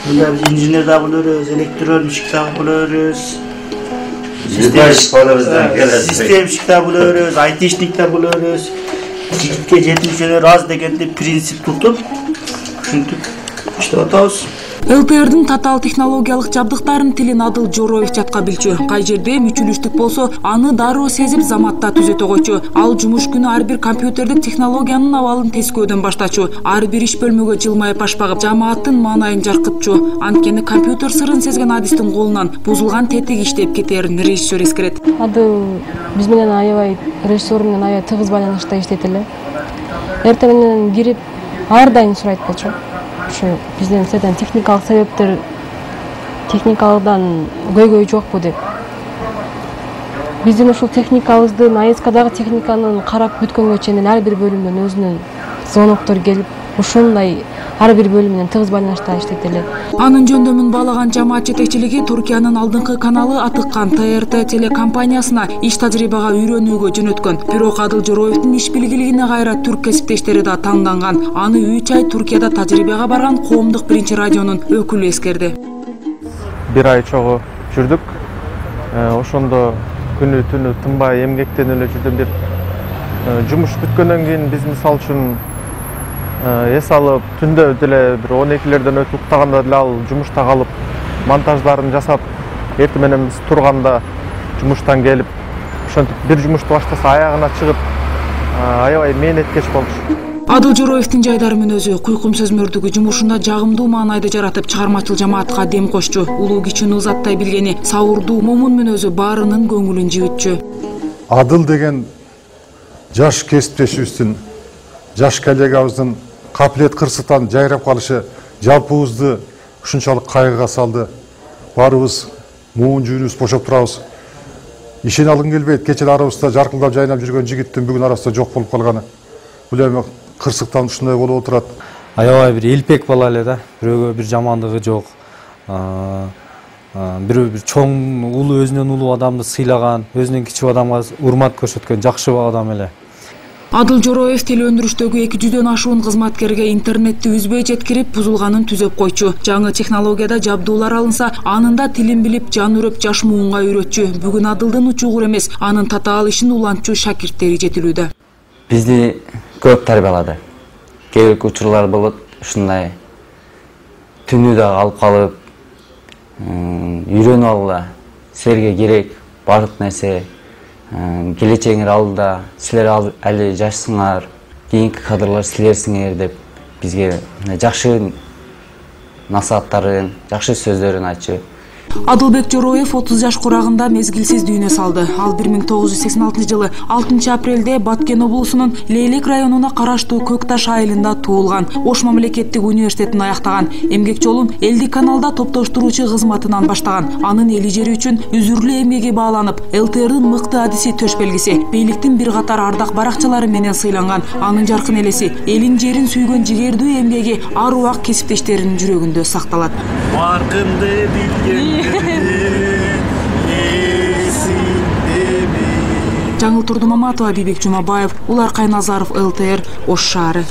Мында биз инженер да болорбуз, электронщик да болорбуз. Системщик да болорбуз, айтишник да болорбуз. Жигитке жетимишелер аз дегенде принцип тутуп, ушинтип иштеп атабыз. ЛТРдин татаал технологиялык жабдыктарын тилин Адыл Жороев жатка билчү. Кай жерде мүчүлүштүк болсо, аны дароо сезип заматта түзөтө койчу. Ал жумуш күнү ар бир компьютердик технологиянын абалын тескөөдөн баштачу. Ар бир иш бөлмөгө жылмайып башпагып, жамааттын маанайын жаркытчу. Анткени компьютер сырын сезген Адистин колунан бузулган тетик иштеп кетерин режиссер эскерет. Адыл биз менен аябай режиссер менен аябай тыгыз байланышта иштейт эле. Эртең менен кирип ар дайым сурайт болчу. Ушу бизден сізден техникалык себептер, техникалыдан көйгөй жокпу деп. Биздин ушул техникабыздын, АСКдагы техниканын карап бүткөнгө чейин ар бир бөлүмдөн өзүнүн звоноктор келип, ушундай ар бир бөлүм менен тыгыз байланышта иштейт эле. Анын жөндөмүн баалаган жамаат жетекчилиги Туркиянын алдыңкы каналы атыккан ТРТ телекомпаниясына иш тажрыйбага үйрөнүүгө жөнөткөн. Бирок Адыл Жороевдин иш билгилигине кайра түрк кесиптештери да танданган. Аны 3 ай Туркияда тажрыйбага барган коомдук биринчи радионун өкүлү эскерди. Бир ай чогуу жүрдүк. Ошондо күнү түнү тынбай эмгектенип эле жүрдүм деп. Жумуш бүткөндөн кийин биз мисалы үчүн эс алып, түндө деле бир 12лерден өтүп уктаганда деле ал жумушта калып, монтаждарын жасап, эртең менен биз турганда жумуштан келип, ошентип бир жумушту баштаса аягына чыгып, аябай мээнеткеч болчу. Адыл Жороевдин жайдарымын өзү куйкум сөзмөрдүгү жумушунда жагымдуу маанайды жаратып, чыгармачыл жамаатка дем кошчу. Улуу кичүүнү узаттай билгени, сабырдуу момун мүнөзү баарынын көңүлүн жибитчү. Адыл деген жаш кесиптешибиздин, жаш коллегабыздын капилет кырсыктан жайрап калышы жалпыбызды ушунчалык кайгыга салды. Баарыбыз муун жүнүбүз бошоп турабыз. Ишене алгым келбейт, кечээ арабызда жаркылдап жайнап жүргөн жигиттин бүгүн арасында жок болуп калганы. Бул эми кырсыктан ушундай болуп отурат. Аябай бир элпек бала эле да, бирөөгө бир жамандыгы жок. Бирөө бир чоң улуу, өзүнөн улуу адамды сыйлаган, өзүнөн кичүү адамга урмат көрсөткөн жакшы адам эле. Адыл Жороев телеөндүрүштөгү 200дөн ашуун кызматкерге интернетти үзбөй жеткирип, бузулганын түзөп койчу. Жаңы технологияда жабдуулар алынса, анында тилин билип, жан үрөп жаш муунга үйрөтчү. Бүгүн Адылдын учугур эмес, анын татаал ишин улантчу шакирттери жетилүүдө. Бизди көп тарбиялады. Кээ бир учурлар болот, ушундай түнү да алып калып, үйрөнүп алгыла. Силерге керек бардык нерсе, келечегиңер алдыда, силер али жашсыңар, кийинки кадрлар силерсиңер деп бизге жакшы насааттарын, жакшы сөздөрүн айтчу. Адылбек Жороев 30 жаш курагында мезгилсиз дүйнө салды. Ал 1986-жылы 6 апрелде Баткен облусунун Лейлек районуна караштуу Көкташ айылында туулган. Ош мамлекеттик университетин аяктаган. Эмгек жолун элдик каналда топтоштуруучу кызматынан баштаган. Анын эли жери үчүн үзүрлүү эмгеги бааланып, ЛТРдын мыкты адиси төш белгиси, бийликтин бир катар ардак баракчылары менен сыйланган. Анын жаркын элеси, элин жерин сүйгөн жигердүү эмгеги ар убак кесиптештеринин жүрөгүндө сакталат. Жаңыл Турдумаматова, Бибек Жумабаев, Улар Кайназаров, ЛТР, Ош шаары.